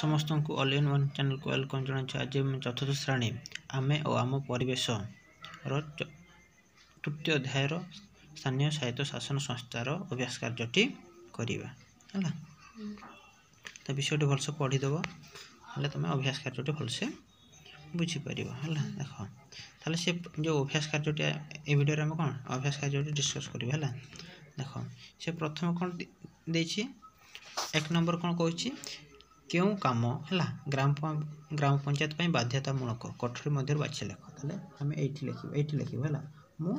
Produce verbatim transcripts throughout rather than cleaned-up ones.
ସମସ୍ତଙ୍କୁ all in one ଚ୍ୟାନେଲକୁ welcome ଜଣାଉଛି। ଆଜି ଆମେ ଚତୁର୍ଥ ଶ୍ରେଣୀ ଆମେ ଓ ଆମ ପରିବେଶର ତୃତୀୟ ଅଧ୍ୟାୟର ସ୍ଥାନୀୟ ସ୍ୱାୟତ୍ତ ଶାସନ ସଂସ୍ଥାର ଅଭ୍ୟାସ କାର୍ଯ୍ୟଟି କରିବା। ହେଲା, ତା ବିଷୟଟି ଭଲସେ ପଢ଼ିଦେବ, ହେଲେ ତୁମେ ଅଭ୍ୟାସ କାର୍ଯ୍ୟଟି ଭଲସେ ବୁଝିପାରିବ। ହେଲା, ଦେଖ ତାହେଲେ ସେ ଯେଉଁ ଅଭ୍ୟାସ କାର୍ଯ୍ୟଟି ଏ ଭିଡ଼ିଓରେ ଆମେ କ'ଣ ଅଭ୍ୟାସ କାର୍ଯ୍ୟଟି ଡିସ୍କସ୍ କରିବା। ହେଲା, ଦେଖ ସେ ପ୍ରଥମେ କ'ଣ ଦେଇଛି, ଏକ ନମ୍ବର କ'ଣ କହୁଛି, କେଉଁ କାମ ହେଲା ଗ୍ରାମ ଗ୍ରାମ ପଞ୍ଚାୟତ ପାଇଁ ବାଧ୍ୟତାମୂଳକ କଠୋରୀ ମଧ୍ୟରୁ ବାଛି ଲେଖ। ତାହେଲେ ଆମେ ଏଇଠି ଲେଖିବ, ଏଇଠି ଲେଖିବ। ହେଲା, ମୁଁ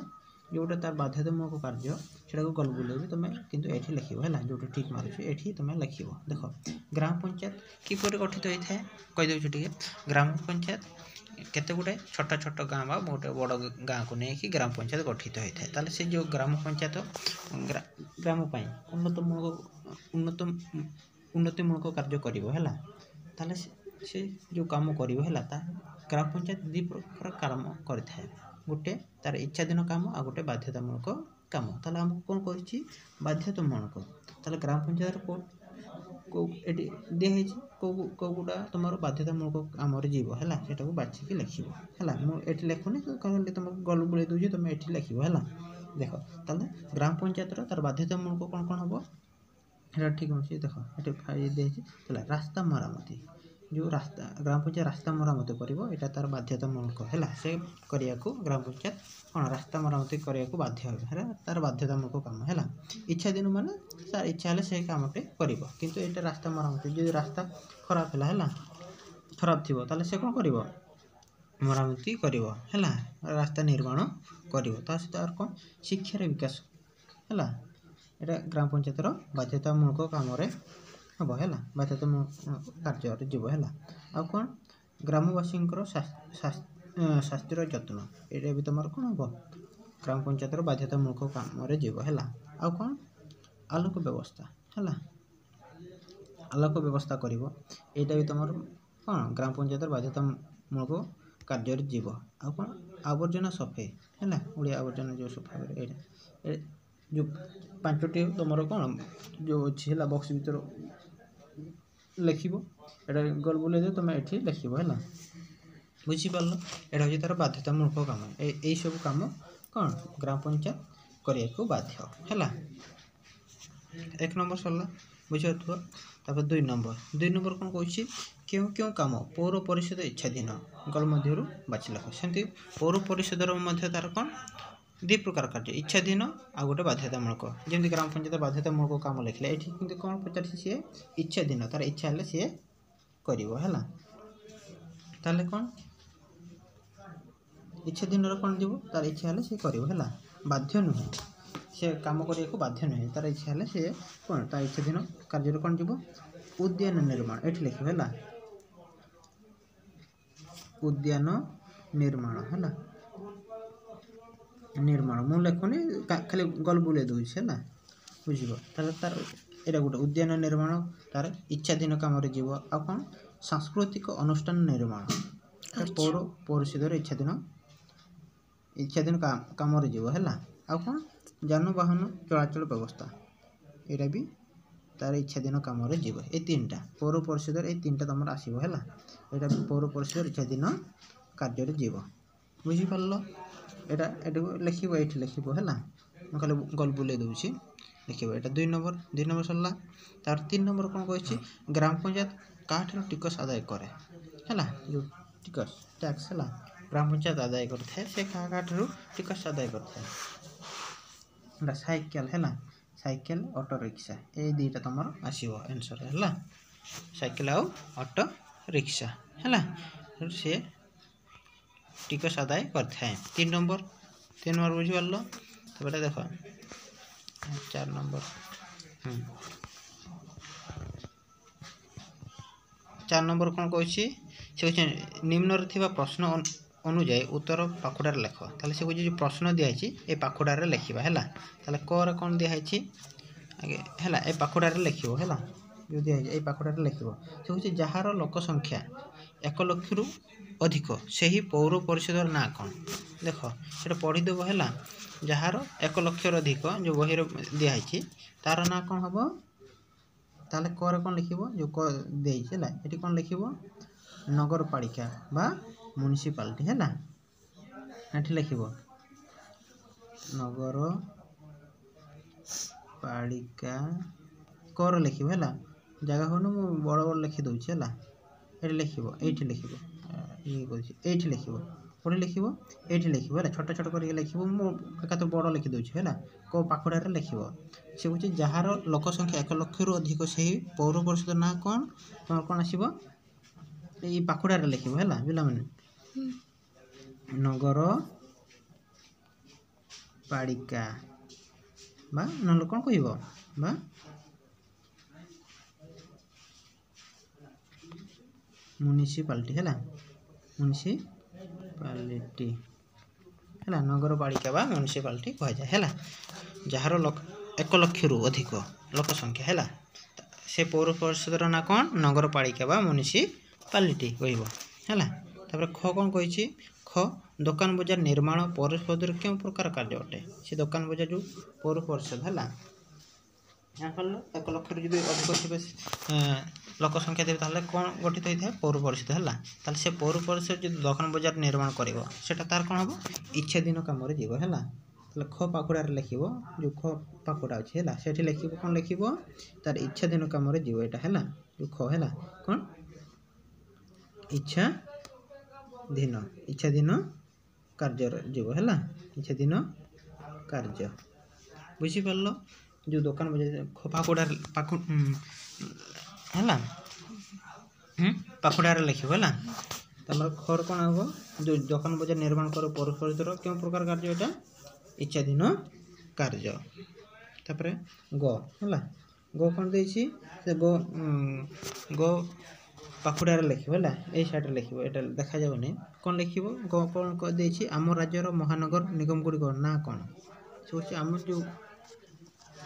ଯେଉଁଟା ତାର ବାଧ୍ୟତାମୂଳକ କାର୍ଯ୍ୟ ସେଟାକୁ ଗୋଲ ବୁଲେଇବି, ତୁମେ କିନ୍ତୁ ଏଇଠି ଲେଖିବ। ହେଲା, ଯେଉଁଠି ଠିକ୍ ମାରୁଛି ଏଇଠି ତୁମେ ଲେଖିବ। ଦେଖ, ଗ୍ରାମ ପଞ୍ଚାୟତ କିପରି ଗଠିତ ହୋଇଥାଏ କହିଦେଉଛି ଟିକେ। ଗ୍ରାମ ପଞ୍ଚାୟତ କେତେ ଗୁଡ଼ାଏ ଛୋଟ ଛୋଟ ଗାଁ ବା ଗୋଟେ ବଡ଼ ଗାଁକୁ ନେଇକି ଗ୍ରାମ ପଞ୍ଚାୟତ ଗଠିତ ହୋଇଥାଏ। ତାହେଲେ ସେ ଯେଉଁ ଗ୍ରାମ ପଞ୍ଚାୟତ ଗ୍ରାମ ପାଇଁ ଉନ୍ନତମୂଳକ ଉନ୍ନତ ଉନ୍ନତିମୂଳକ କାର୍ଯ୍ୟ କରିବ। ହେଲା, ତାହେଲେ ସେ ଯେଉଁ କାମ କରିବ, ହେଲା, ତା ଗ୍ରାମ ପଞ୍ଚାୟତ ଦୁଇ ପ୍ରକାର କାମ କରିଥାଏ, ଗୋଟେ ତାର ଇଚ୍ଛାଧୀନ କାମ ଆଉ ଗୋଟେ ବାଧ୍ୟତାମୂଳକ କାମ। ତାହେଲେ ଆମକୁ କ'ଣ କହିଛି, ବାଧ୍ୟତାମୂଳକ। ତାହେଲେ ଗ୍ରାମ ପଞ୍ଚାୟତର କେଉଁ କେଉଁ ଏଠି ଦିଆହେଇଛି, କେଉଁ କେଉଁ ଗୁଡ଼ା ତୁମର ବାଧ୍ୟତାମୂଳକ କାମରେ ଯିବ। ହେଲା, ସେଇଟାକୁ ବାଛିକି ଲେଖିବ। ହେଲା, ମୁଁ ଏଠି ଲେଖୁନି, ଖାଲି ତୁମକୁ ଗୋଲ ବୁଲେଇ ଦେଉଛି, ତୁମେ ଏଠି ଲେଖିବ। ହେଲା, ଦେଖ ତାହେଲେ ଗ୍ରାମ ପଞ୍ଚାୟତର ତାର ବାଧ୍ୟତାମୂଳକ କ'ଣ କ'ଣ ହେବ, ଏଇଟା ଠିକ୍ ଅଛି। ଦେଖ ଏଠି ଦିଆହେଇଛି, ହେଲା ରାସ୍ତା ମରାମତି, ଯେଉଁ ରାସ୍ତା ଗ୍ରାମ ପଞ୍ଚାୟତ ରାସ୍ତା ମରାମତି କରିବ, ଏଇଟା ତାର ବାଧ୍ୟତାମୂଳକ। ହେଲା, ସେ କରିବାକୁ ଗ୍ରାମ ପଞ୍ଚାୟତ କ'ଣ ରାସ୍ତା ମରାମତି କରିବାକୁ ବାଧ୍ୟ ହେବ, ହେଲା ତାର ବାଧ୍ୟତାମୂଳକ କାମ। ହେଲା, ଇଚ୍ଛାଧୀନ ମାନେ ତାର ଇଚ୍ଛା ହେଲେ ସେ କାମଟି କରିବ, କିନ୍ତୁ ଏଇଟା ରାସ୍ତା ମରାମତି ଯଦି ରାସ୍ତା ଖରାପ ହେଲା, ହେଲା ଖରାପ ଥିବ, ତାହେଲେ ସେ କ'ଣ କରିବ, ମରାମତି କରିବ। ହେଲା, ରାସ୍ତା ନିର୍ମାଣ କରିବ। ତା ସହିତ ଆଉ କ'ଣ, ଶିକ୍ଷାର ବିକାଶ। ହେଲା, ଏଇଟା ଗ୍ରାମ ପଞ୍ଚାୟତର ବାଧ୍ୟତାମୂଳକ କାମରେ ହେବ। ହେଲା, ବାଧ୍ୟତାମୂଳକ କାର୍ଯ୍ୟରେ ଯିବ। ହେଲା, ଆଉ କ'ଣ, ଗ୍ରାମବାସୀଙ୍କର ସ୍ୱାସ୍ଥ୍ୟର ଯତ୍ନ, ଏଇଟା ବି ତୁମର କ'ଣ ହେବ, ଗ୍ରାମ ପଞ୍ଚାୟତର ବାଧ୍ୟତାମୂଳକ କାମରେ ଯିବ। ହେଲା, ଆଉ କ'ଣ, ଆଲୋକ ବ୍ୟବସ୍ଥା। ହେଲା, ଆଲୋକ ବ୍ୟବସ୍ଥା କରିବ, ଏଇଟା ବି ତୁମର କ'ଣ ଗ୍ରାମ ପଞ୍ଚାୟତର ବାଧ୍ୟତାମୂଳକ କାର୍ଯ୍ୟରେ ଯିବ। ଆଉ କ'ଣ, ଆବର୍ଜନା ସଫେଇ। ହେଲା, ଓଡ଼ିଆ ଆବର୍ଜନା ଯେଉଁ ସଫା କରେ, ଏଇଟା ଯେଉଁ ପାଞ୍ଚଟି ତୁମର କ'ଣ ଯେଉଁ ଅଛି, ହେଲା ବକ୍ସ ଭିତରେ ଲେଖିବ, ଏଇଟା ଗୋଲ ବୁଲେଇ ଦିଅ, ତୁମେ ଏଠି ଲେଖିବ। ହେଲା, ବୁଝିପାରିଲ? ଏଇଟା ହେଉଛି ତା'ର ବାଧ୍ୟତାମୂଳକ କାମ। ଏ ଏଇସବୁ କାମ କ'ଣ ଗ୍ରାମ ପଞ୍ଚାୟତ କରିବାକୁ ବାଧ୍ୟ। ହେଲା, ଏକ ନମ୍ବର ସରିଲା, ବୁଝିପାରୁଥିବ। ତାପରେ ଦୁଇ ନମ୍ବର, ଦୁଇ ନମ୍ବର କ'ଣ କହୁଛି, କେଉଁ କେଉଁ କାମ ପୌର ପରିଷଦ ଇଚ୍ଛାଧୀନ ଗୋଲ ମଧ୍ୟରୁ ବାଛି ଲେଖ। ସେମିତି ପୌର ପରିଷଦର ମଧ୍ୟ ତା'ର କ'ଣ ଦୁଇ ପ୍ରକାର କାର୍ଯ୍ୟ, ଇଚ୍ଛାଧୀନ ଆଉ ଗୋଟେ ବାଧ୍ୟତାମୂଳକ। ଯେମିତି ଗ୍ରାମ ପଞ୍ଚାୟତ ବାଧ୍ୟତାମୂଳକ କାମ ଲେଖିଲେ, ଏଠି କିନ୍ତୁ କ'ଣ ପଚାରିଛି, ସିଏ ଇଚ୍ଛାଧୀନ, ତାର ଇଚ୍ଛା ହେଲେ ସିଏ କରିବ। ହେଲା, ତାହେଲେ କ'ଣ ଇଚ୍ଛାଧୀନର କ'ଣ ଯିବ, ତାର ଇଚ୍ଛା ହେଲେ ସିଏ କରିବ। ହେଲା, ବାଧ୍ୟ ନୁହେଁ, ସେ କାମ କରିବାକୁ ବାଧ୍ୟ ନୁହେଁ, ତାର ଇଚ୍ଛା ହେଲେ ସିଏ କ'ଣ ତା ଇଚ୍ଛାଧୀନ କାର୍ଯ୍ୟରେ କ'ଣ ଯିବ, ଉଦ୍ୟାନ ନିର୍ମାଣ, ଏଠି ଲେଖିବ। ହେଲା, ଉଦ୍ୟାନ ନିର୍ମାଣ। ହେଲା, ନିର୍ମାଣ ମୁଁ ଲେଖୁନି, ଖାଲି ଗୋଲ ବୁଲେଇ ଦେଉଛି। ହେଲା, ବୁଝିବ? ତାହେଲେ ତାର ଏଇଟା ଗୋଟେ ଉଦ୍ୟାନ ନିର୍ମାଣ ତାର ଇଚ୍ଛାଧୀନ କାମରେ ଯିବ। ଆଉ କ'ଣ, ସାଂସ୍କୃତିକ ଅନୁଷ୍ଠାନ ନିର୍ମାଣ ପୌର ପରିଷଦର ଇଚ୍ଛାଧୀନ ଇଚ୍ଛାଧୀନ କାମରେ ଯିବ। ହେଲା, ଆଉ କ'ଣ, ଯାନବାହନ ଚଳାଚଳ ବ୍ୟବସ୍ଥା, ଏଇଟା ବି ତାର ଇଚ୍ଛାଧୀନ କାମରେ ଯିବ। ଏଇ ତିନିଟା ପୌର ପରିଷଦର ଏଇ ତିନିଟା ତୁମର ଆସିବ। ହେଲା, ଏଇଟା ବି ପୌର ପରିଷଦର ଇଚ୍ଛାଧୀନ କାର୍ଯ୍ୟରେ ଯିବ। ବୁଝିପାରିଲ? ଏଇଟା ଏଟାକୁ ଲେଖିବ, ଏଇଠି ଲେଖିବ। ହେଲା, ମୁଁ ଖାଲି ଗୋଲ ବୁଲେଇ ଦେଉଛି, ଲେଖିବ। ଏଇଟା ଦୁଇ ନମ୍ବର, ଦୁଇ ନମ୍ବର ସରିଲା। ତାର ତିନି ନମ୍ବର କ'ଣ କହିଛି, ଗ୍ରାମ ପଞ୍ଚାୟତ କାହାଠାରୁ ଟିକସ ଆଦାୟ କରେ? ହେଲା, ଯେଉଁ ଟିକସ ଟ୍ୟାକ୍ସ, ହେଲା ଗ୍ରାମ ପଞ୍ଚାୟତ ଆଦାୟ କରିଥାଏ, ସେ କାହା କାହାଠାରୁ ଟିକସ ଆଦାୟ କରିଥାଏ? ହେଲା, ସାଇକେଲ। ହେଲା, ସାଇକେଲ, ଅଟୋ ରିକ୍ସା, ଏଇ ଦୁଇଟା ତୁମର ଆସିବ ଆନ୍ସର୍। ହେଲା, ସାଇକେଲ ଆଉ ଅଟୋ ରିକ୍ସା। ହେଲା, ସିଏ ଟିକସ ଆଦାୟ କରିଥାଏ। ତିନି ନମ୍ବର, ତିନି ନମ୍ବର ବୁଝିପାରିଲ? ତାପରେ ଦେଖ ଚାରି ନମ୍ବର। ହୁଁ ଚାରି ନମ୍ବର କ'ଣ କହୁଛି, ସେ କହୁଛି ନିମ୍ନରେ ଥିବା ପ୍ରଶ୍ନ ଅନୁଯାୟୀ ଉତ୍ତର ପାଖୁଡ଼ାରେ ଲେଖ। ତାହେଲେ ସେ କହୁଛି ଯେଉଁ ପ୍ରଶ୍ନ ଦିଆହେଇଛି ଏ ପାଖୁଡ଼ାରେ ଲେଖିବା। ହେଲା, ତାହେଲେ କରେ କ'ଣ ଦିଆହେଇଛି ଆଜ୍ଞା, ହେଲା ଏ ପାଖୁଡ଼ାରେ ଲେଖିବ। ହେଲା, ଯେଉଁ ଦିଆହେଇଛି ଏଇ ପାଖୁଡ଼ାରେ ଲେଖିବ। ସେ କହୁଛି ଯାହାର ଲୋକ ସଂଖ୍ୟା ଏକ ଲକ୍ଷରୁ ଅଧିକ ସେହି ପୌର ପରିଷଦର ନାଁ କ'ଣ? ଦେଖ ସେଟା ପଢ଼ିଦେବ। ହେଲା, ଯାହାର ଏକ ଲକ୍ଷରୁ ଅଧିକ ଯେଉଁ ବହିରେ ଦିଆହେଇଛି ତାର ନାଁ କ'ଣ ହେବ? ତାହେଲେ କରେ କ'ଣ ଲେଖିବ ଯେଉଁ କ ଦେଇଛି ହେଲା ଏଠି କ'ଣ ଲେଖିବ ନଗରପାଳିକା ବା ମ୍ୟୁନିସିପାଲିଟି ହେଲା ଏଠି ଲେଖିବ ନଗର ପାଳିକା କର ଲେଖିବ ହେଲା ଜାଗା ହେଉନି ମୁଁ ବଡ଼ ବଡ଼ ଲେଖି ଦେଉଛି ହେଲା ଏଠି ଲେଖିବ ଏଇଠି ଲେଖିବ ଇଏ କରୁଛି ଏଇଠି ଲେଖିବ କୋଉଠି ଲେଖିବ ଏଇଠି ଲେଖିବ ହେଲା ଛୋଟ ଛୋଟ କରିକି ଲେଖିବ ମୁଁ ଏକାଥରେ ବଡ଼ ଲେଖିଦେଉଛି ହେଲା କୋଉ ପାଖୁଡ଼ାରେ ଲେଖିବ ସେ ହେଉଛି ଯାହାର ଲୋକ ସଂଖ୍ୟା ଏକ ଲକ୍ଷରୁ ଅଧିକ ସେହି ପୌର ପରିଷଦ ନାଁ କ'ଣ ତମର କ'ଣ ଆସିବ ଏଇ ପାଖୁଡ଼ାରେ ଲେଖିବ ହେଲା ପିଲାମାନେ ନଗର ପାଳିକା ବା ନହେଲେ କ'ଣ କହିବ ବା ମ୍ୟୁନିସିପାଲିଟି ହେଲା ମ୍ୟୁନିସିପାଲିଟି ହେଲା ନଗରପାଳିକା ବା ମ୍ୟୁନିସିପାଲିଟି କୁହାଯାଏ ହେଲା ଯାହାର ଏକ ଲକ୍ଷରୁ ଅଧିକ ଲୋକ ସଂଖ୍ୟା ହେଲା ସେ ପୌର ପରିଷଦର ନାଁ କ'ଣ ନଗରପାଳିକା ବା ମ୍ୟୁନିସିପାଲିଟି କହିବ ହେଲା ତାପରେ ଖ କ'ଣ କହିଛି ଖ ଦୋକାନ ବଜାର ନିର୍ମାଣ ପୌର ପରିଷଦର କେଉଁ ପ୍ରକାର କାର୍ଯ୍ୟ ଅଟେ ସେ ଦୋକାନ ବଜାର ଯେଉଁ ପୌର ପରିଷଦ ହେଲା ଜାଣିପାରିଲ ଏକ ଲକ୍ଷରୁ ଯଦି ଅଧିକ ଥିବେ ଲୋକ ସଂଖ୍ୟା ଥିବେ ତାହେଲେ କ'ଣ ଗଠିତ ହୋଇଥାଏ ପୌର ପରିଷଦ ହେଲା ତାହେଲେ ସେ ପୌର ପରିଷଦ ଯଦି ଦୋକାନ ବଜାର ନିର୍ମାଣ କରିବ ସେଇଟା ତାର କ'ଣ ହେବ ଇଚ୍ଛାଧୀନ କାମରେ ଯିବ ହେଲା ତାହେଲେ ଖ ପାଖୁଡ଼ାରେ ଲେଖିବ ଯେଉଁ ଖ ପାଖୁଡ଼ା ଅଛି ହେଲା ସେଠି ଲେଖିବ କ'ଣ ଲେଖିବ ତାର ଇଚ୍ଛାଧୀନ କାମରେ ଯିବ ଏଇଟା ହେଲା ଯେଉଁ ଖ ହେଲା କ'ଣ ଇଚ୍ଛାଧୀନ ଇଚ୍ଛାଧୀନ କାର୍ଯ୍ୟରେ ଯିବ ହେଲା ଇଚ୍ଛାଧୀନ କାର୍ଯ୍ୟ ବୁଝିପାରିଲ ଯେଉଁ ଦୋକାନ ବଜାର ପାଖୁଡ଼ାରେ ପାଖୁ ହେଲା ପାଖୁଡ଼ାରେ ଲେଖିବ ହେଲା ତମର ଖର କ'ଣ ହେବ ଯେଉଁ ଦୋକାନ ବଜାର ନିର୍ମାଣ କର ପୌର ପରିଷଦର କେଉଁ ପ୍ରକାର କାର୍ଯ୍ୟ ଏଇଟା ଇଚ୍ଛାଧୀନ କାର୍ଯ୍ୟ ତାପରେ ଗ ହେଲା ଗ କ'ଣ ଦେଇଛି ସେ ଗ ଗ ପାଖୁଡ଼ାରେ ଲେଖିବ ହେଲା ଏଇ ସାଇଡ଼୍ରେ ଲେଖିବ ଏଇଟା ଦେଖାଯାଉନି କ'ଣ ଲେଖିବ ଗ କ'ଣ ଦେଇଛି ଆମ ରାଜ୍ୟର ମହାନଗର ନିଗମ ଗୁଡ଼ିକ ନାଁ କ'ଣ ସେ ହେଉଛି ଆମ ଯେଉଁ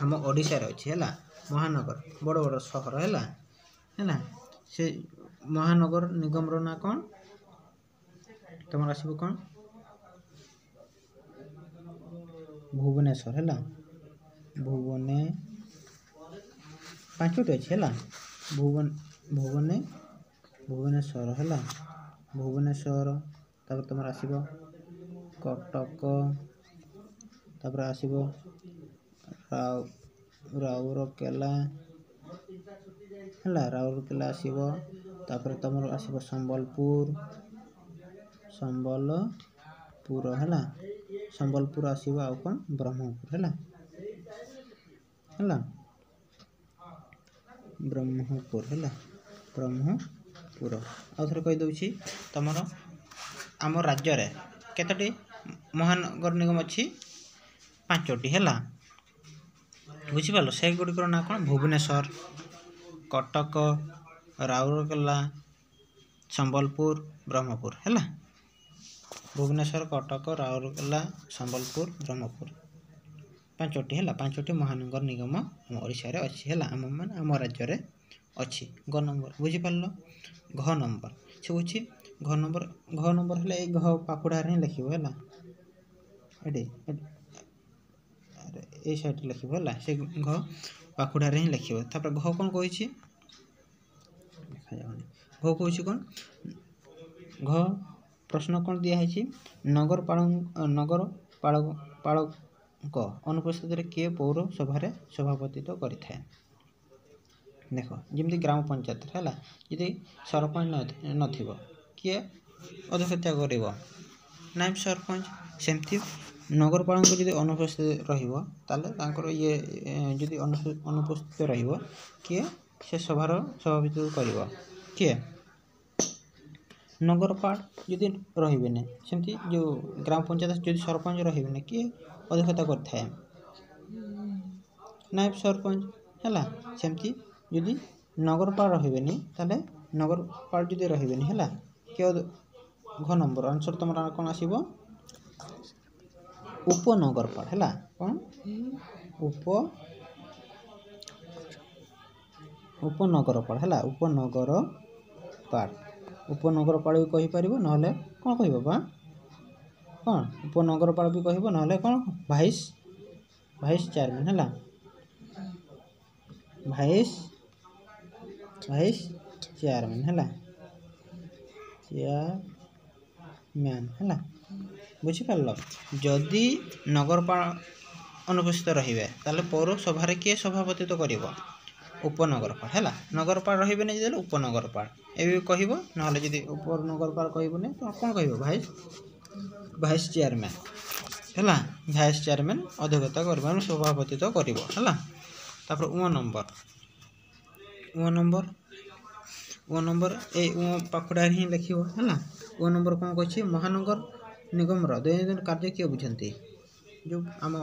ଆମ ଓଡ଼ିଶାରେ ଅଛି ହେଲା ମହାନଗର ବଡ଼ ବଡ଼ ସହର ହେଲା ହେଲା ସେ ମହାନଗର ନିଗମର ନାଁ କ'ଣ ତମର ଆସିବ କ'ଣ ଭୁବନେଶ୍ୱର ହେଲା ଭୁବନେ ପାଞ୍ଚଟି ଅଛି ହେଲା ଭୁବନ ଭୁବନେ ଭୁବନେଶ୍ୱର ହେଲା ଭୁବନେଶ୍ୱର ତାପରେ ତମର ଆସିବ କଟକ ତାପରେ ଆସିବ ରାଉ ରାଉରକେଲା ହେଲା ରାଉରକେଲା ଆସିବ ତାପରେ ତମର ଆସିବ ସମ୍ବଲପୁର ସମ୍ବଲପୁର ହେଲା ସମ୍ବଲପୁର ଆସିବ ଆଉ କ'ଣ ବ୍ରହ୍ମପୁର ହେଲା ହେଲା ବ୍ରହ୍ମପୁର ହେଲା ବ୍ରହ୍ମପୁର ଆଉ ଥରେ କହିଦେଉଛି ତମର ଆମ ରାଜ୍ୟରେ କେତୋଟି ମହାନଗର ନିଗମ ଅଛି ପାଞ୍ଚଟି ହେଲା ବୁଝିପାରିଲ ସେଗୁଡ଼ିକର ନାଁ କ'ଣ ଭୁବନେଶ୍ୱର କଟକ ରାଉରକେଲା ସମ୍ବଲପୁର ବ୍ରହ୍ମପୁର ହେଲା ଭୁବନେଶ୍ୱର କଟକ ରାଉରକେଲା ସମ୍ବଲପୁର ବ୍ରହ୍ମପୁର ପାଞ୍ଚଟି ହେଲା ପାଞ୍ଚଟି ମହାନଗର ନିଗମ ଆମ ଓଡ଼ିଶାରେ ଅଛି ହେଲା ଆମ ମାନେ ଆମ ରାଜ୍ୟରେ ଅଛି ଗ ନମ୍ବର ବୁଝିପାରିଲ ଘ ନମ୍ବର ସେ ହେଉଛି ଘ ନମ୍ବର ଘ ନମ୍ବର ହେଲେ ଏଇ ଘ ପାଖୁଡ଼ାରେ ହିଁ ଲେଖିବ ହେଲା ଏଠି ଏଇ ସାଇଡ଼୍ରେ ଲେଖିବ ହେଲା ସେ ଘ ପାଖୁଡ଼ାରେ ହିଁ ଲେଖିବ ତାପରେ ଘ କ'ଣ କହିଛି ଦେଖାଯାଉନି ଘ କହୁଛି କ'ଣ ଘ ପ୍ରଶ୍ନ କ'ଣ ଦିଆହେଇଛି ନଗରପାଳ ନଗରପାଳ ପାଳଙ୍କ ଅନୁପସ୍ଥିତିରେ କିଏ ପୌର ସଭାରେ ସଭାପତିତ୍ୱ କରିଥାଏ ଦେଖ ଯେମିତି ଗ୍ରାମ ପଞ୍ଚାୟତରେ ହେଲା ଯଦି ସରପଞ୍ଚ ନଥିବ କିଏ ଅଧ୍ୟକ୍ଷତା କରିବ ନାୟବ ସରପଞ୍ଚ ସେମିତି ନଗରପାଳଙ୍କ ଯଦି ଅନୁପସ୍ଥିତି ରହିବ ତାହେଲେ ତାଙ୍କର ଇଏ ଯଦି ଅନୁପସ୍ଥିତ ରହିବ କିଏ ସେ ସଭାର ସଭାପତିତ୍ୱ କରିବ କିଏ ନଗରପାଳ ଯଦି ରହିବେନି ସେମିତି ଯେଉଁ ଗ୍ରାମ ପଞ୍ଚାୟତ ଯଦି ସରପଞ୍ଚ ରହିବେନି କିଏ ଅଧ୍ୟକ୍ଷତା କରିଥାଏ ନାୟବ ସରପଞ୍ଚ ହେଲା ସେମିତି ଯଦି ନଗରପାଳ ରହିବେନି ତାହେଲେ ନଗରପାଳ ଯଦି ରହିବେନି ହେଲା କିଏ ଘ ନମ୍ବର ଆନ୍ସର୍ ତୁମର କ'ଣ ଆସିବ ଉପନଗରପାଳ ହେଲା କ'ଣ ଉପ ଉପନଗରପାଳ ହେଲା ଉପନଗରପାଳ ଉପନଗରପାଳ ବି କହିପାରିବ ନହେଲେ କ'ଣ କହିବ ବା କ'ଣ ଉପନଗରପାଳ ବି କହିବ ନହେଲେ କ'ଣ ଭାଇସ୍ ଭାଇସ୍ ଚେୟାରମ୍ୟାନ୍ ହେଲା ଭାଇସ୍ ଭାଇସ୍ ଚେୟାରମ୍ୟାନ୍ ହେଲା, ଚେୟାରମ୍ୟାନ୍ ହେଲା, ବୁଝିପାରିଲ? ଯଦି ନଗରପାଳ ଅନୁପସ୍ଥିତ ରହିବେ ତାହେଲେ ପୌରସଭାରେ କିଏ ସଭାପତିତ୍ୱ କରିବ? ଉପନଗରପାଳ ହେଲା। ନଗରପାଳ ରହିବେନି ଯେତେବେଳେ ଉପନଗରପାଳ ଏବେ କହିବ, ନହେଲେ ଯଦି ଉପନଗରପାଳ କହିବନି ତ କ'ଣ କହିବ? ଭାଇସ୍ ଭାଇସ୍ ଚେୟାରମ୍ୟାନ୍ ହେଲା, ଭାଇସ୍ ଚେୟାରମ୍ୟାନ୍ ଅଧ୍ୟକ୍ଷତା କରିବ, ସଭାପତିତ୍ୱ କରିବ ହେଲା। ତାପରେ ଉଁ ନମ୍ବର, ଉଁ ନମ୍ବର, ଉଁ ନମ୍ବର ଏଇ ଉଁ ପାଖୁଡ଼ାରେ ହିଁ ଲେଖିବ ହେଲା। ଉଁ ନମ୍ବର କ'ଣ କହିଛି? ମହାନଗର ନିଗମର ଦୈନନ୍ଦିନ କାର୍ଯ୍ୟ କିଏ ବୁଝନ୍ତି? ଯେଉଁ ଆମ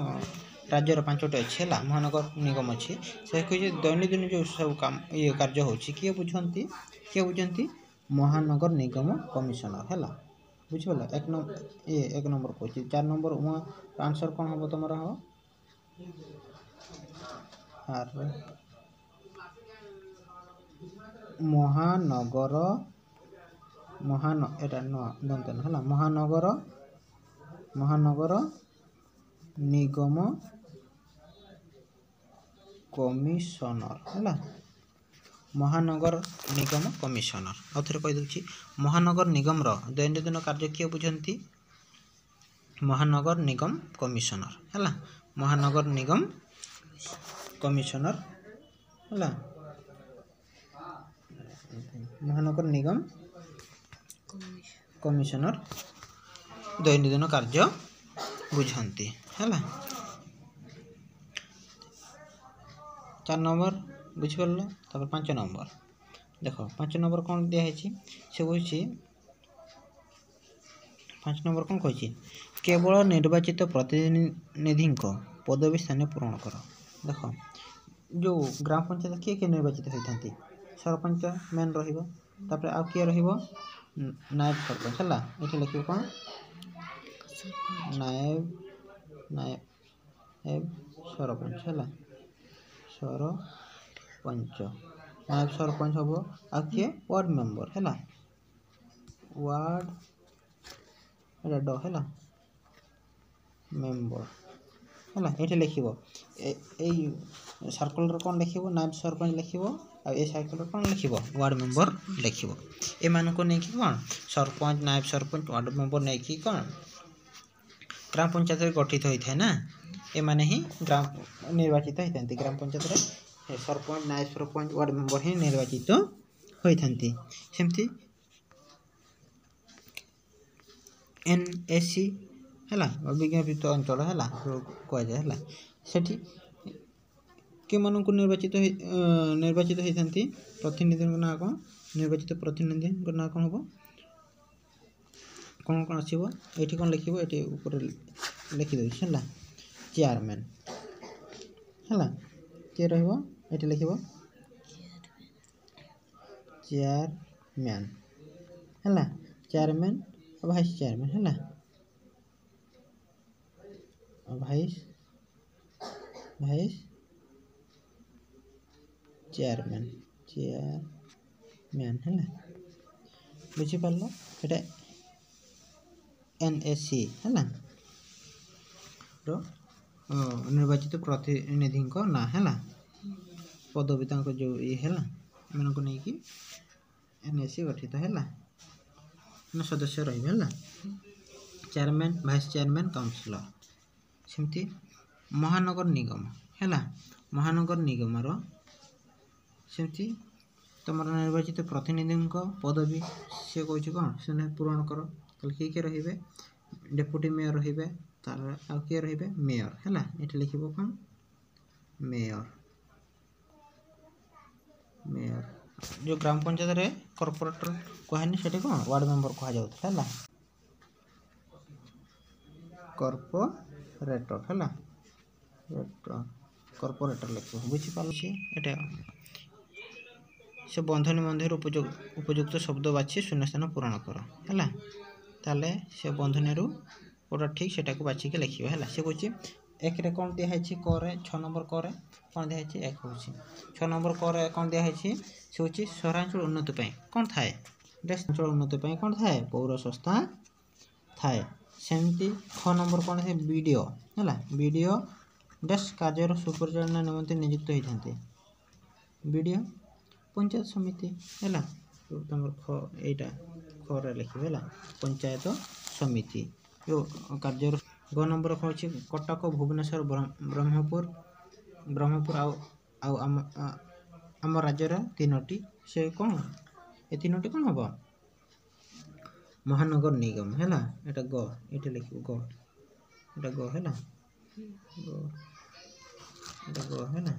ରାଜ୍ୟର ପାଞ୍ଚଟି ଅଛି ହେଲା, ମହାନଗର ନିଗମ ଅଛି, ସେ କହୁଛି ଦୈନନ୍ଦିନ ଯେଉଁ ସବୁ କାମ ଇଏ କାର୍ଯ୍ୟ ହେଉଛି କିଏ ବୁଝନ୍ତି? କିଏ ବୁଝନ୍ତି? ମହାନଗର ନିଗମ କମିଶନର ହେଲା, ବୁଝିପାରିଲ? ଏକ ନମ୍ବର ଇଏ ଏକ ନମ୍ବର କହୁଛି। ଚାରି ନମ୍ବର ଉଁ ଆନ୍ସର କ'ଣ ହେବ ତୁମର? ହେବ ଆର ମହାନଗର, ମହାନ ଏଇଟା ନୂଆ ଦନ୍ତ ହେଲା, ମହାନଗର, ମହାନଗର ନିଗମ କମିଶନର ହେଲା, ମହାନଗର ନିଗମ କମିଶନର। ଆଉ ଥରେ କହିଦେଉଛି, ମହାନଗର ନିଗମର ଦୈନନ୍ଦିନ କାର୍ଯ୍ୟ କିଏ ବୁଝନ୍ତି? ମହାନଗର ନିଗମ କମିଶନର ହେଲା, ମହାନଗର ନିଗମ କମିଶନର ହେଲା, ମହାନଗର ନିଗମ କମିଶନର ଦୈନନ୍ଦିନ କାର୍ଯ୍ୟ ବୁଝନ୍ତି ହେଲା। ଚାରି ନମ୍ବର ବୁଝିପାରିଲ? ତାପରେ ପାଞ୍ଚ ନମ୍ବର ଦେଖ, ପାଞ୍ଚ ନମ୍ବର କ'ଣ ଦିଆହେଇଛି? ସେ କହୁଛି ପାଞ୍ଚ ନମ୍ବର କ'ଣ କହିଛି? କେବଳ ନିର୍ବାଚିତ ପ୍ରତିନିଧିଙ୍କ ପଦବୀ ସ୍ଥାନ ପୂରଣ କର। ଦେଖ, ଯେଉଁ ଗ୍ରାମ ପଞ୍ଚାୟତ କିଏ କିଏ ନିର୍ବାଚିତ ହୋଇଥାନ୍ତି? ସରପଞ୍ଚ ମେନ୍ ରହିବ, ତାପରେ ଆଉ କିଏ ରହିବ? ନାୟବ ସରପଞ୍ଚ ହେଲା। ଏଠି ଲେଖିବ କ'ଣ? ନାୟବ, ନାୟବ ସରପଞ୍ଚ ହେଲା, ସରପଞ୍ଚ, ନାୟବ ସରପଞ୍ଚ ହେବ। ଆଉ କିଏ? ୱାର୍ଡ଼ ମେମ୍ବର ହେଲା, ୱାର୍ଡ଼ ଏଇଟା ଡ ହେଲା, ମେମ୍ବର ହେଲା। ଏଠି ଲେଖିବ ଏଇ ସାର୍କଲରେ କ'ଣ ଲେଖିବ? ନାୟବ ସରପଞ୍ଚ ଲେଖିବ, ଆଉ ଏ ସାର୍କଲରେ କ'ଣ ଲେଖିବ? ୱାର୍ଡ଼ ମେମ୍ବର ଲେଖିବ। ଏମାନଙ୍କୁ ନେଇକି କ'ଣ ସରପଞ୍ଚ, ନାୟବ ସରପଞ୍ଚ, ୱାର୍ଡ଼ ମେମ୍ବର ନେଇକି କ'ଣ ଗ୍ରାମ ପଞ୍ଚାୟତରେ ଗଠିତ ହୋଇଥାଏ ନା, ଏମାନେ ହିଁ ଗ୍ରାମ ନିର୍ବାଚିତ ହୋଇଥାନ୍ତି। ଗ୍ରାମ ପଞ୍ଚାୟତରେ ସରପଞ୍ଚ, ନାୟବ ସରପଞ୍ଚ, ୱାର୍ଡ଼ ମେମ୍ବର ହିଁ ନିର୍ବାଚିତ ହୋଇଥାନ୍ତି। ସେମିତି ଏନ୍ ଏ ସି ହେଲା, ବିଜ୍ଞାପିତ ଅଞ୍ଚଳ ହେଲା କୁହାଯାଏ ହେଲା, ସେଠି କେଉଁମାନଙ୍କୁ ନିର୍ବାଚିତ ନିର୍ବାଚିତ ହୋଇଥାନ୍ତି? ପ୍ରତିନିଧିଙ୍କ ନାଁ କ'ଣ? ନିର୍ବାଚିତ ପ୍ରତିନିଧିଙ୍କ ନାଁ କ'ଣ ହେବ? କ'ଣ କ'ଣ ଆସିବ ଏଇଠି? କ'ଣ ଲେଖିବ ଏଠି? ଉପରେ ଲେଖିଦେଉଛି ହେଲା, ଚେୟାରମ୍ୟାନ୍ ହେଲା, କିଏ ରହିବ ଏଠି ଲେଖିବ? ଚେୟାରମ୍ୟାନ୍ ହେଲା, ଚେୟାରମ୍ୟାନ୍ ଆଉ ଭାଇସ୍ ଚେୟାରମ୍ୟାନ୍ ହେଲା, ଭାଇସ୍ ଭାଇସ୍ ଚେୟାରମ୍ୟାନ୍, ଚେୟାରମ୍ୟାନ୍ ହେଲା, ବୁଝିପାରିଲ? ଏଇଟା ଏନ୍ ଏ ସି ହେଲା ର ନିର୍ବାଚିତ ପ୍ରତିନିଧିଙ୍କ ନାଁ ହେଲା, ପଦବୀ ତାଙ୍କ ଯେଉଁ ଇଏ ହେଲା, ଏମାନଙ୍କୁ ନେଇକି ଏନ୍ ଏ ସି ଗଠିତ ହେଲା, ସଦସ୍ୟ ରହିବେ ହେଲା, ଚେୟାରମ୍ୟାନ୍, ଭାଇସ୍ ଚେୟାରମ୍ୟାନ୍, କାଉନସିଲର। ସେମିତି ମହାନଗର ନିଗମ ହେଲା, ମହାନଗର ନିଗମର ସେମିତି ତୁମର ନିର୍ବାଚିତ ପ୍ରତିନିଧିଙ୍କ ପଦବୀ ସେ କହୁଛି କ'ଣ ସେମାନେ ପୂରଣ କର। ତାହେଲେ କିଏ କିଏ ରହିବେ? ଡେପୁଟି ମେୟର ରହିବେ, ତାର ଆଉ କିଏ ରହିବେ? ମେୟର ହେଲା। ଏଠି ଲେଖିବ କ'ଣ? Mayor, mayor. ଯେଉଁ ଗ୍ରାମ ପଞ୍ଚାୟତରେ କର୍ପୋରେଟର କୁହାନି, ସେଠି କ'ଣ ୱାର୍ଡ଼ ମେମ୍ବର କୁହାଯାଉଥିଲା ହେଲା, କର୍ପୋରେଟର ହେଲା, କର୍ପୋରେଟର ଲେଖିବ, ବୁଝିପାରୁଛି? ଏଇଟା ସେ ବନ୍ଧନୀ ମଧ୍ୟରୁ ଉପଯୁକ୍ତ ଶବ୍ଦ ବାଛି ଶୂନ୍ୟସ୍ଥାନ ପୂରଣ କର ହେଲା। ତାହେଲେ ସେ ବନ୍ଧନୀରୁ କେଉଁଟା ଠିକ୍ ସେଟାକୁ ବାଛିକି ଲେଖିବ ହେଲା। ସେ କହୁଛି ଏକରେ କ'ଣ ଦିଆହେଇଛି? କରେ ଛଅ ନମ୍ବର କରେ କ'ଣ ଦିଆହେଇଛି? ଏକ ହେଉଛି ଛଅ ନମ୍ବର କରେ କ'ଣ ଦିଆହେଇଛି? ସେ ହେଉଛି ସହରାଞ୍ଚଳ ଉନ୍ନତି ପାଇଁ କ'ଣ ଥାଏ? ଅଞ୍ଚଳ ଉନ୍ନତି ପାଇଁ କ'ଣ ଥାଏ? ପୌର ସଂସ୍ଥା ଥାଏ। ସେମିତି ଛଅ ନମ୍ବର କ'ଣ ଥାଏ? ବି ଡ଼ି ଓ ହେଲା, ବି ଡ଼ି ଓ ଡ୍ୟାସ୍ କାର୍ଯ୍ୟର ସୁପରିଚାଳନା ନିମନ୍ତେ ନିଯୁକ୍ତ ହୋଇଥାନ୍ତି। ବି ଡ଼ି ଓ ପଞ୍ଚାୟତ ସମିତି ହେଲା। ତୁମର ଖ ଏଇଟା ଖରେ ଲେଖିବ ହେଲା, ପଞ୍ଚାୟତ ସମିତି ଯେଉଁ କାର୍ଯ୍ୟର। ଗ ନମ୍ବର କ'ଣ ଅଛି? କଟକ, ଭୁବନେଶ୍ୱର, ବ୍ରହ୍ମପୁର ବ୍ରହ୍ମପୁର ଆଉ ଆଉ ଆମ ଆମ ରାଜ୍ୟର ତିନୋଟି ସେ କ'ଣ, ଏ ତିନୋଟି କ'ଣ ହେବ? ମହାନଗର ନିଗମ ହେଲା। ଏଇଟା ଗ, ଏଇଟା ଲେଖିବ ଗ, ଏଇଟା ଗ ହେଲା, ଗ, ଏଇଟା ଗ ହେଲା,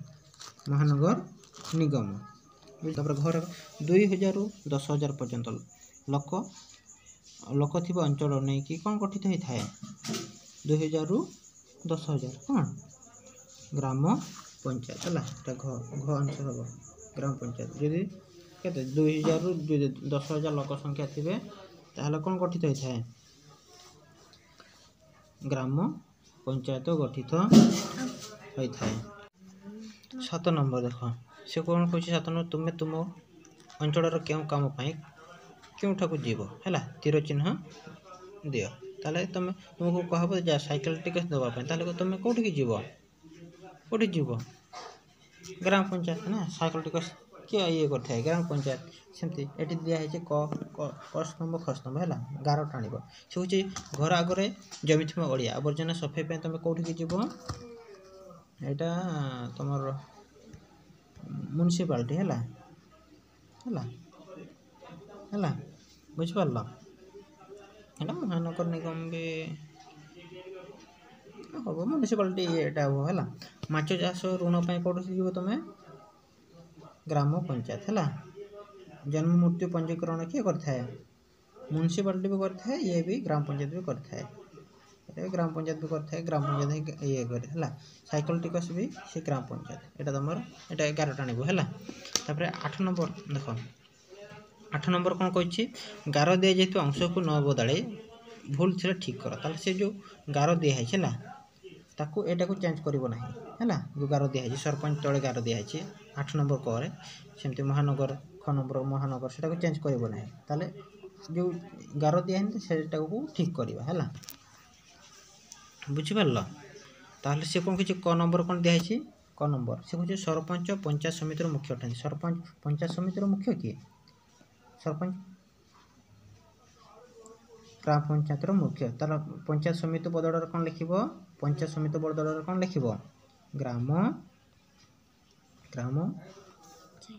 ମହାନଗର ନିଗମ। ତାପରେ ଘର ଦୁଇ ହଜାରରୁ ଦଶ ହଜାର ପର୍ଯ୍ୟନ୍ତ ଲୋକ ଲୋକ ଥିବା ଅଞ୍ଚଳ ନେଇକି କ'ଣ ଗଠିତ ହୋଇଥାଏ? ଦୁଇ ହଜାରରୁ ଦଶ ହଜାର କ'ଣ? ଗ୍ରାମ ପଞ୍ଚାୟତ ହେଲା। ଏଟା ଘ, ଘ ଆନ୍ସର ହେବ ଗ୍ରାମ ପଞ୍ଚାୟତ। ଯଦି କେତେ ଦୁଇ ହଜାରରୁ ଯଦି ଦଶ ହଜାର ଲୋକ ସଂଖ୍ୟା ଥିବେ ତାହେଲେ କ'ଣ ଗଠିତ ହୋଇଥାଏ? ଗ୍ରାମ ପଞ୍ଚାୟତ ଗଠିତ ହୋଇଥାଏ। ସାତ ନମ୍ବର ଦେଖ, ସେ କ'ଣ କହୁଛି ସାତ ନମ୍ବର? ତୁମେ ତୁମ ଅଞ୍ଚଳର କେଉଁ କାମ ପାଇଁ କେଉଁଠାକୁ ଯିବ ହେଲା, ତୀର ଚିହ୍ନ ଦିଅ। ତାହେଲେ ତୁମେ ତୁମକୁ କୁହାହବ ଯା ସାଇକେଲ ଟିକସ ଦେବା ପାଇଁ, ତାହେଲେ ତୁମେ କେଉଁଠିକି ଯିବ? କେଉଁଠି ଯିବ? ଗ୍ରାମ ପଞ୍ଚାୟତ ନା। ସାଇକେଲ ଟିକସ କିଏ ଇଏ କରିଥାଏ? ଗ୍ରାମ ପଞ୍ଚାୟତ। ସେମିତି ଏଠି ଦିଆହେଇଛି କ କ ସ୍ତମ୍ଭ ଖ ସ୍ତମ୍ଭ ହେଲା, ଗାର ଟାଣିବ। ସେ ହେଉଛି ଘର ଆଗରେ ଜମିଥିବା ଅଳିଆ ଆବର୍ଜନା ସଫେଇ ପାଇଁ ତୁମେ କେଉଁଠିକି ଯିବ? ଏଇଟା ତୁମର ମ୍ୟୁନିସିପାଲିଟି ହେଲା, ହେଲା ହେଲା, ବୁଝିପାରିଲ? ଏଇଟା ମହାନଗର ନିଗମ ବି ହେବ, ମ୍ୟୁନିସିପାଲିଟି ଏଇଟା ହେବ ହେଲା। ମାଛ ଚାଷ ଋଣ ପାଇଁ କେଉଁଠି ଯିବ ତୁମେ? ଗ୍ରାମ ପଞ୍ଚାୟତ ହେଲା। ଜନ୍ମ ମୃତ୍ୟୁ ପଞ୍ଜୀକରଣ କିଏ କରିଥାଏ? ମ୍ୟୁନିସିପାଲିଟି ବି କରିଥାଏ, ଇଏ ବି ଗ୍ରାମ ପଞ୍ଚାୟତ ବି କରିଥାଏ, ଏଇଟା ଗ୍ରାମ ପଞ୍ଚାୟତ ବି କରିଥାଏ, ଗ୍ରାମ ପଞ୍ଚାୟତ ଇଏ କରେ ହେଲା। ସାଇକେଲ ଟିକସ ବି ସେ ଗ୍ରାମ ପଞ୍ଚାୟତ। ଏଇଟା ତୁମର ଏଇଟା ଏଗାର ଟାଣିବ ହେଲା। ତାପରେ ଆଠ ନମ୍ବର ଦେଖ, ଆଠ ନମ୍ବର କ'ଣ କହିଛି? ଗାର ଦିଆଯାଇଥିବା ଅଂଶକୁ ନ ବଦଳାଇ ଭୁଲ ଥିଲେ ଠିକ୍ କର। ତାହେଲେ ସେ ଯେଉଁ ଗାର ଦିଆହେଇଛି ହେଲା, ତାକୁ ଏଇଟାକୁ ଚେଞ୍ଜ କରିବ ନାହିଁ ହେଲା। ଯେଉଁ ଗାର ଦିଆହେଇଛି ସରପଞ୍ଚ ତଳେ ଗାର ଦିଆହେଇଛି ଆଠ ନମ୍ବର କରେ, ସେମିତି ମହାନଗର ଖ ନମ୍ବର ମହାନଗର, ସେଟାକୁ ଚେଞ୍ଜ କରିବ ନାହିଁ। ତାହେଲେ ଯେଉଁ ଗାର ଦିଆହେଇନି ସେଟାକୁ ଠିକ୍ କରିବା ହେଲା, ବୁଝିପାରିଲ? ତାହେଲେ ସେ କ'ଣ କିଛି କ ନମ୍ବର କ'ଣ ଦିଆହେଇଛି? କ ନମ୍ବର ସେ କହୁଛି ସରପଞ୍ଚ ପଞ୍ଚାୟତ ସମିତିର ମୁଖ୍ୟ ଅଟନ୍ତି। ସରପଞ୍ଚ ପଞ୍ଚାୟତ ସମିତିର ମୁଖ୍ୟ କିଏ? ସରପଞ୍ଚ ଗ୍ରାମ ପଞ୍ଚାୟତର ମୁଖ୍ୟ। ତାର ପଞ୍ଚାୟତ ସମିତି ବଦଳରେ କ'ଣ ଲେଖିବ? ପଞ୍ଚାୟତ ସମିତି ବଦଳରେ କ'ଣ ଲେଖିବ? ଗ୍ରାମ ଗ୍ରାମ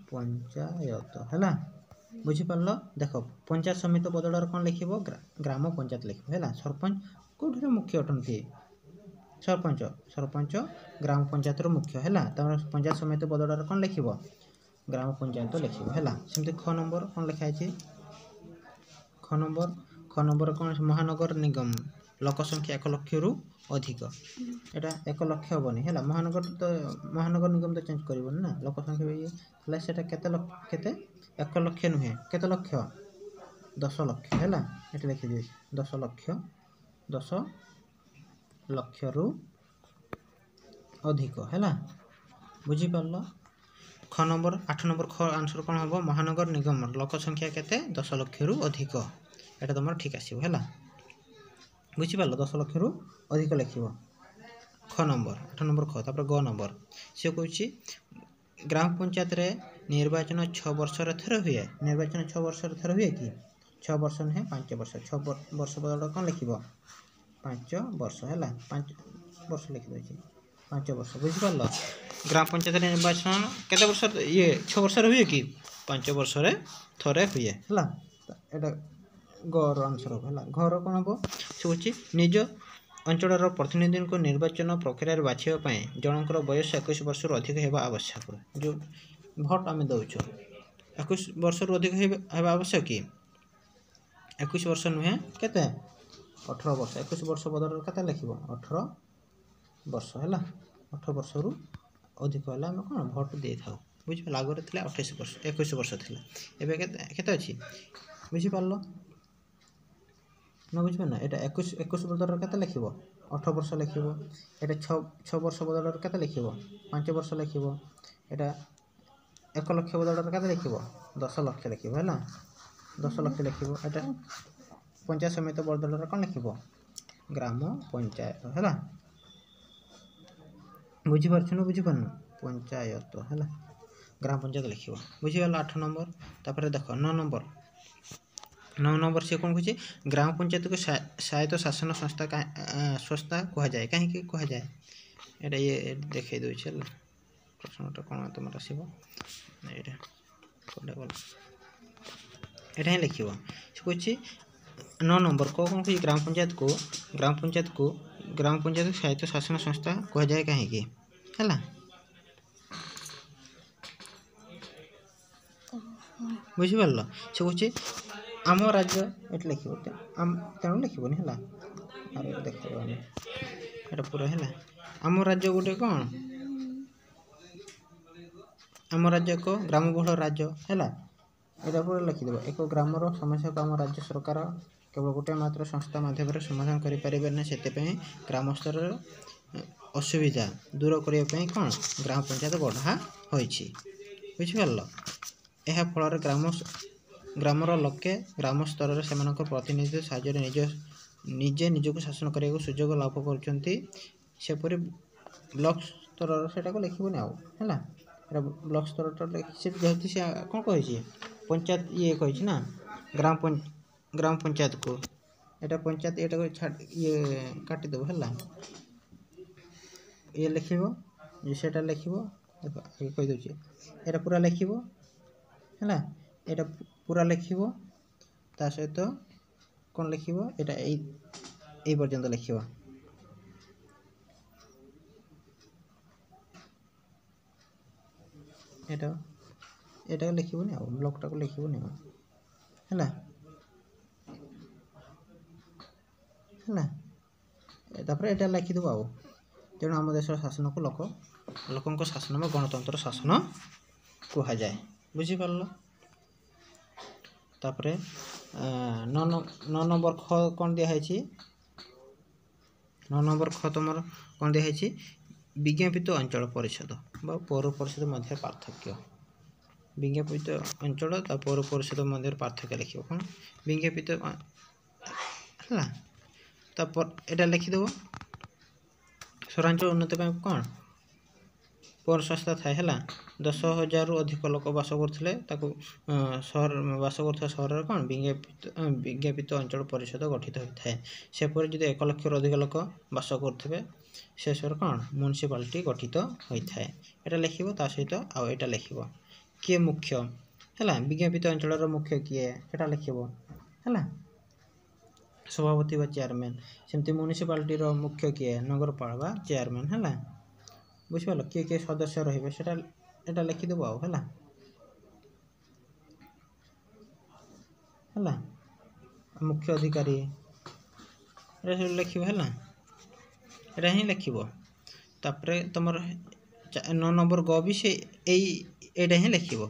ପଞ୍ଚାୟତ ହେଲା, ବୁଝିପାରିଲ? ଦେଖ ପଞ୍ଚାୟତ ସମିତି ବଦଳରେ କ'ଣ ଲେଖିବ? ଗ୍ରାମ ପଞ୍ଚାୟତ ଲେଖିବ ହେଲା। ସରପଞ୍ଚ କେଉଁଠିର ମୁଖ୍ୟ ଅଟନ୍ତି? ସରପଞ୍ଚ ସରପଞ୍ଚ ଗ୍ରାମ ପଞ୍ଚାୟତର ମୁଖ୍ୟ ହେଲା। ତାପରେ ପଞ୍ଚାୟତ ସମିତି ବଦଳରେ କ'ଣ ଲେଖିବ? ଗ୍ରାମ ପଞ୍ଚାୟତ ଲେଖିବ ହେଲା। ସେମିତି ଖ ନମ୍ବର କ'ଣ ଲେଖା ହେଇଛି? ଖ ନମ୍ବର ଖ ନମ୍ବର କ'ଣ? ମହାନଗର ନିଗମ ଲୋକ ସଂଖ୍ୟା ଏକ ଲକ୍ଷରୁ ଅଧିକ। ଏଇଟା ଏକ ଲକ୍ଷ ହେବନି ହେଲା, ମହାନଗର ତ ମହାନଗର ନିଗମ ତ ଚେଞ୍ଜ କରିବନି ନା, ଲୋକ ସଂଖ୍ୟା ଇଏ ହେଲେ ସେଇଟା କେତେ କେତେ ଏକ ଲକ୍ଷ ନୁହେଁ, କେତେ ଲକ୍ଷ? ଦଶ ଲକ୍ଷ ହେଲା। ଏଠି ଲେଖିଦିଏ ଦଶ ଲକ୍ଷ, ଦଶ ଲକ୍ଷରୁ ଅଧିକ ହେଲା, ବୁଝିପାରିଲ? ଖ ନମ୍ବର ଆଠ ନମ୍ବର ଖ ଆନ୍ସର କ'ଣ ହେବ? ମହାନଗର ନିଗମର ଲୋକ ସଂଖ୍ୟା କେତେ? ଦଶ ଲକ୍ଷରୁ ଅଧିକ। ଏଇଟା ତୁମର ଠିକ୍ ଆସିବ ହେଲା, ବୁଝିପାରିଲ? ଦଶ ଲକ୍ଷରୁ ଅଧିକ ଲେଖିବ ଖ ନମ୍ବର, ଆଠ ନମ୍ବର ଖ। ତାପରେ ଗ ନମ୍ବର ସେ କହୁଛି ଗ୍ରାମ ପଞ୍ଚାୟତରେ ନିର୍ବାଚନ ଛଅ ବର୍ଷରେ ଥରେ ହୁଏ। ନିର୍ବାଚନ ଛଅ ବର୍ଷରେ ଥରେ ହୁଏ କି? ଛଅ ବର୍ଷ ନୁହେଁ, ପାଞ୍ଚ ବର୍ଷ। ଛଅ ବର୍ଷ ବଦଳରେ କ'ଣ ଲେଖିବ? ପାଞ୍ଚ ବର୍ଷ ହେଲା, ପାଞ୍ଚ ବର୍ଷ ଲେଖିଦେଉଛି, ପାଞ୍ଚ ବର୍ଷ, ବୁଝିପାରିଲ? ଗ୍ରାମ ପଞ୍ଚାୟତରେ ନିର୍ବାଚନ କେତେ ବର୍ଷ ଇଏ ଛଅ ବର୍ଷରେ ହୁଏ କି? ପାଞ୍ଚ ବର୍ଷରେ ଥରେ ହୁଏ ହେଲା। ଏଇଟା ଗର ଆନ୍ସର ହେବ ହେଲା। ଘର କ'ଣ ହେବ? ସେ କହୁଛି ନିଜ ଅଞ୍ଚଳର ପ୍ରତିନିଧିଙ୍କୁ ନିର୍ବାଚନ ପ୍ରକ୍ରିୟାରେ ବାଛିବା ପାଇଁ ଜଣଙ୍କର ବୟସ ଏକୋଇଶ ବର୍ଷରୁ ଅଧିକ ହେବା ଆବଶ୍ୟକ। ଯେଉଁ ଭୋଟ ଆମେ ଦେଉଛୁ ଏକୋଇଶ ବର୍ଷରୁ ଅଧିକ ହେବା ଆବଶ୍ୟକ କି? ଏକୋଇଶ ବର୍ଷ ନୁହେଁ, କେତେ? ଅଠର ବର୍ଷ। ଏକୋଇଶ ବର୍ଷ ବଦଳରେ କେତେ ଲେଖିବ? ଅଠର ବର୍ଷ ହେଲା। ଅଠର ବର୍ଷରୁ ଅଧିକ ହେଲେ ଆମେ କ'ଣ ଭୋଟ ଦେଇଥାଉ, ବୁଝିପାରିଲ? ଆଗରେ ଥିଲା ଅଠେଇଶ ବର୍ଷ, ଏକୋଇଶ ବର୍ଷ ଥିଲା, ଏବେ କେତେ କେତେ ଅଛି? ବୁଝିପାରିଲ ନା ବୁଝିପାରିଲ? ଏଇଟା ଏକୋଇଶ ଏକୋଇଶ ବଦଳରେ କେତେ ଲେଖିବ? ଅଠର ବର୍ଷ ଲେଖିବ। ଏଇଟା ଛଅ ଛଅ ବର୍ଷ ବଦଳରେ କେତେ ଲେଖିବ? ପାଞ୍ଚ ବର୍ଷ ଲେଖିବ। ଏଇଟା ଏକ ଲକ୍ଷ ବଦଳରେ କେତେ ଲେଖିବ? ଦଶ ଲକ୍ଷ ଲେଖିବ ହେଲା, ଦଶ ଲକ୍ଷ ଲେଖିବ। ଏଇଟା ପଞ୍ଚାୟତ ସମିତି ବଦଳରେ କ'ଣ ଲେଖିବ? ଗ୍ରାମ ପଞ୍ଚାୟତ ହେଲା, ବୁଝିପାରୁଛୁ ନା ବୁଝିପାରୁନୁ? ପଞ୍ଚାୟତ ହେଲା। ଗ୍ରାମ ପଞ୍ଚାୟତ ଲେଖିବ। ବୁଝିଗଲା ଆଠ ନମ୍ବର। ତାପରେ ଦେଖ ନଅ ନମ୍ବର, ନଅ ନମ୍ବର ସେ କ'ଣ କହୁଛି? ଗ୍ରାମ ପଞ୍ଚାୟତକୁ ସ୍ୱାୟତ୍ତ ଶାସନ ସଂସ୍ଥା ସଂସ୍ଥା କୁହାଯାଏ। କାହିଁକି କୁହାଯାଏ? ଏଇଟା ଇଏ ଦେଖେଇ ଦେଉଛି ହେଲା। ପ୍ରଶ୍ନଟା କ'ଣ ତୁମର ଆସିବ ଏଇଟା କୋଉଟା ଗଲା, ଏଇଟା ହିଁ ଲେଖିବ। ସେ କହୁଛି ନଅ ନମ୍ବର କ'ଣ କହୁଛି? ଗ୍ରାମ ପଞ୍ଚାୟତକୁ ଗ୍ରାମ ପଞ୍ଚାୟତକୁ ଗ୍ରାମ ପଞ୍ଚାୟତ ସ୍ୱାୟତ୍ତ ଶାସନ ସଂସ୍ଥା କୁହାଯାଏ କାହିଁକି? ହେଲା, ବୁଝିପାରିଲ? ସେ କହୁଛି ଆମ ରାଜ୍ୟ, ଏଠି ଲେଖିବ, ତେଣୁ ଲେଖିବନି ହେଲା, ଆରେ ଦେଖେଇବନି ଏଇଟା ପୁରା ହେଲା। ଆମ ରାଜ୍ୟ ଗୋଟେ କ'ଣ? ଆମ ରାଜ୍ୟ ଏକ ଗ୍ରାମବହୁଳ ରାଜ୍ୟ ହେଲା। ଏଇଟା ପୁରା ଲେଖିଦେବ। ଏକ ଗ୍ରାମର ସମସ୍ୟାକୁ ଆମ ରାଜ୍ୟ ସରକାର କେବଳ ଗୋଟିଏ ମାତ୍ର ସଂସ୍ଥା ମାଧ୍ୟମରେ ସମାଧାନ କରିପାରିବେ ନାହିଁ। ସେଥିପାଇଁ ଗ୍ରାମ ସ୍ତରର ଅସୁବିଧା ଦୂର କରିବା ପାଇଁ କ'ଣ ଗ୍ରାମ ପଞ୍ଚାୟତ ଗଢ଼ା ହୋଇଛି। ବୁଝିପାରିଲ? ଏହା ଫଳରେ ଗ୍ରାମ ଗ୍ରାମର ଲୋକେ ଗ୍ରାମ ସ୍ତରରେ ସେମାନଙ୍କ ପ୍ରତିନିଧି ସାହାଯ୍ୟରେ ନିଜ ନିଜେ ନିଜକୁ ଶାସନ କରିବାକୁ ସୁଯୋଗ ଲାଭ କରୁଛନ୍ତି। ସେପରି ବ୍ଲକ ସ୍ତରର ସେଇଟାକୁ ଲେଖିବନି ଆଉ ହେଲା। ଏଇଟା ବ୍ଲକ ସ୍ତରଟା ସେ ଯେହେତୁ ସେ କ'ଣ କହିଛି? ପଞ୍ଚାୟତ ଇଏ କହିଛି ନା, ଗ୍ରାମ ଗ୍ରାମ ପଞ୍ଚାୟତକୁ ଏଇଟା ପଞ୍ଚାୟତ, ଏଇଟାକୁ ଛାଡ଼ି ଇଏ କାଟିଦେବ ହେଲା। ଇଏ ଲେଖିବ, ସେଇଟା ଲେଖିବ, ଦେଖ କହିଦେଉଛି, ଏଇଟା ପୁରା ଲେଖିବ ହେଲା, ଏଇଟା ପୁରା ଲେଖିବ। ତା ସହିତ କ'ଣ ଲେଖିବ? ଏଇଟା ଏଇ ଏଇ ପର୍ଯ୍ୟନ୍ତ ଲେଖିବ। ଏଇଟା ଏଇଟାକୁ ଲେଖିବନି ଆଉ, ବ୍ଲକଟାକୁ ଲେଖିବନି ଆଉ ହେଲା ହେଲା। ତାପରେ ଏଇଟା ଲେଖିଦେବ ଆଉ। ତେଣୁ ଆମ ଦେଶର ଶାସନକୁ ଲୋକ ଲୋକଙ୍କ ଶାସନ ବା ଗଣତନ୍ତ୍ର ଶାସନ କୁହାଯାଏ। ବୁଝିପାରିଲ? ତାପରେ ନଅ ନଅ ନମ୍ବର ଖ କ'ଣ ଦିଆହେଇଛି? ନଅ ନମ୍ବର ଖ ତୁମର କ'ଣ ଦିଆହେଇଛି? ବିଜ୍ଞାପିତ ଅଞ୍ଚଳ ପରିଷଦ ବା ପୌର ପରିଷଦ ମଧ୍ୟରେ ପାର୍ଥକ୍ୟ। ବିଜ୍ଞାପିତ ଅଞ୍ଚଳ ତା ପୌର ପରିଷଦ ମଧ୍ୟରେ ପାର୍ଥକ୍ୟ ଲେଖିବ। କ'ଣ ବିଜ୍ଞାପିତ ହେଲା, ତାପ ଏଇଟା ଲେଖିଦେବ। ସହରାଞ୍ଚଳ ଉନ୍ନତି ପାଇଁ କ'ଣ ପୌର ସଂସ୍ଥା ଥାଏ ହେଲା। ଦଶ ହଜାରରୁ ଅଧିକ ଲୋକ ବାସ କରୁଥିଲେ ତାକୁ ସହର ବାସ କରୁଥିବା ସହରରେ କ'ଣ ବିଜ୍ଞାପିତ ବିଜ୍ଞାପିତ ଅଞ୍ଚଳ ପରିଷଦ ଗଠିତ ହୋଇଥାଏ। ସେପରି ଯଦି ଏକ ଲକ୍ଷରୁ ଅଧିକ ଲୋକ ବାସ କରୁଥିବେ ସେ ସହର କ'ଣ ମ୍ୟୁନିସିପାଲିଟି ଗଠିତ ହୋଇଥାଏ। ଏଇଟା ଲେଖିବ। ତା ସହିତ ଆଉ ଏଇଟା ଲେଖିବ କିଏ ମୁଖ୍ୟ ହେଲା, ବିଜ୍ଞାପିତ ଅଞ୍ଚଳର ମୁଖ୍ୟ କିଏ ସେଟା ଲେଖିବ ହେଲା, ସଭାପତି ବା ଚେୟାରମ୍ୟାନ୍। ସେମିତି ମ୍ୟୁନିସିପାଲିଟିର ମୁଖ୍ୟ କିଏ? ନଗରପାଳ ବା ଚେୟାରମ୍ୟାନ୍ ହେଲା। ବୁଝିପାରିଲ? କିଏ କିଏ ସଦସ୍ୟ ରହିବେ ସେଟା ଏଇଟା ଲେଖିଦେବ ଆଉ ହେଲା ହେଲା। ମୁଖ୍ୟ ଅଧିକାରୀ ଏଇଟା ସବୁ ଲେଖିବ ହେଲା, ଏଇଟା ହିଁ ଲେଖିବ। ତାପରେ ତୁମର ନଅ ନମ୍ବର ଗ ବି ସେ ଏଇ ଏଇଟା ହିଁ ଲେଖିବ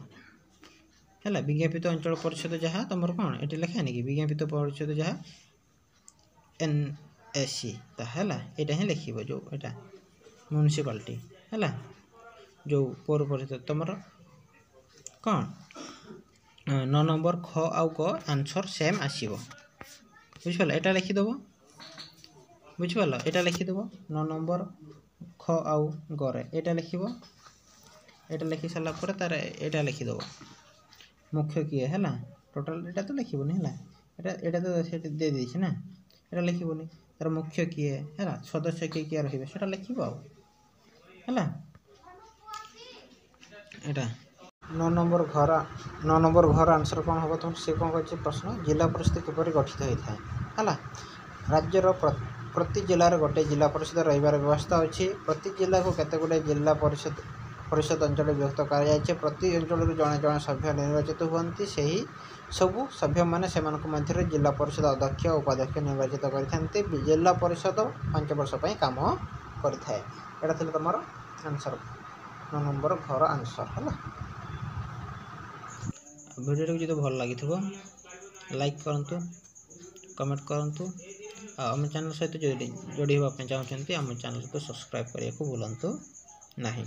ହେଲା। ବିଜ୍ଞାପିତ ଅଞ୍ଚଳ ପରିଷଦ ଯାହା ତୁମର କ'ଣ ଏଠି ଲେଖା ହେଇନି କି? ବିଜ୍ଞାପିତ ପରିଷଦ ଯାହା ଏନ୍ ଏସ୍ ସି ତାହା ହେଲା, ଏଇଟା ହିଁ ଲେଖିବ ଯେଉଁ ଏଇଟା ମ୍ୟୁନିସିପାଲିଟି ହେଲା, ଯେଉଁ ପୌର ପରିଷଦ ତୁମର କ'ଣ ନଅ ନମ୍ବର ଖ ଆଉ ଗ ଆନ୍ସର୍ ସେମ୍ ଆସିବ। ବୁଝିପାରିଲ? ଏଇଟା ଲେଖିଦେବ। ବୁଝିପାରିଲ? ଏଇଟା ଲେଖିଦେବ ନଅ ନମ୍ବର ଖ ଆଉ ଗରେ ଏଇଟା ଲେଖିବ। ଏଇଟା ଲେଖି ସାରିଲା ପରେ ତାର ଏଇଟା ଲେଖିଦେବ ମୁଖ୍ୟ କିଏ ହେଲା। ଟୋଟାଲ୍ ଏଇଟା ତ ଲେଖିବନି ହେଲା, ଏଇଟା ଏଇଟା ତ ସେଠି ଦେଇଦେଇଛି ନା, ଏଇଟା ଲେଖିବନି। ତାର ମୁଖ୍ୟ କିଏ ହେଲା, ସଦସ୍ୟ କିଏ କିଏ ରହିବେ ସେଟା ଲେଖିବ ଆଉ ହେଲା। ଏଇଟା ନଅ ନମ୍ବର ଘର, ନଅ ନମ୍ବର ଘର ଆନ୍ସର୍ କ'ଣ ହେବ ତୁମର? ସେ କ'ଣ କହିଛି ପ୍ରଶ୍ନ? ଜିଲ୍ଲା ପରିଷଦ କିପରି ଗଠିତ ହୋଇଥାଏ ହେଲା। ରାଜ୍ୟର ପ୍ରତି ଜିଲ୍ଲାରେ ଗୋଟିଏ ଜିଲ୍ଲା ପରିଷଦ ରହିବାର ବ୍ୟବସ୍ଥା ଅଛି। ପ୍ରତି ଜିଲ୍ଲାକୁ କେତେ ଗୁଡ଼ିଏ ଜିଲ୍ଲା ପରିଷଦ ପରିଷଦ ଅଞ୍ଚଳରେ ବିଭକ୍ତ କରାଯାଇଛି। ପ୍ରତି ଅଞ୍ଚଳରୁ ଜଣେ ଜଣେ ସଭ୍ୟ ନିର୍ବାଚିତ ହୁଅନ୍ତି। ସେହି ସବୁ ସଭ୍ୟମାନେ ସେମାନଙ୍କ ମଧ୍ୟରେ ଜିଲ୍ଲା ପରିଷଦ ଅଧ୍ୟକ୍ଷ ଉପାଧ୍ୟକ୍ଷ ନିର୍ବାଚିତ କରିଥାନ୍ତି। ଜିଲ୍ଲା ପରିଷଦ ପାଞ୍ଚ ବର୍ଷ ପାଇଁ କାମ କରିଥାଏ। ଏଇଟା ଥିଲା ତୁମର ଆନ୍ସର୍, ନଅ ନମ୍ବର ଘର ଆନ୍ସର୍ ହେଲା। ଭିଡ଼ିଓଟିକୁ ଯଦି ଭଲ ଲାଗିଥିବ ଲାଇକ୍ କରନ୍ତୁ, କମେଣ୍ଟ କରନ୍ତୁ, ଆଉ ଆମ ଚ୍ୟାନେଲ୍ ସହିତ ଯୋଡ଼ି ଯୋଡ଼ି ହେବା ପାଇଁ ଚାହୁଁଛନ୍ତି ଆମ ଚ୍ୟାନେଲକୁ ସବସ୍କ୍ରାଇବ୍ କରିବାକୁ ଭୁଲନ୍ତୁ ନାହିଁ।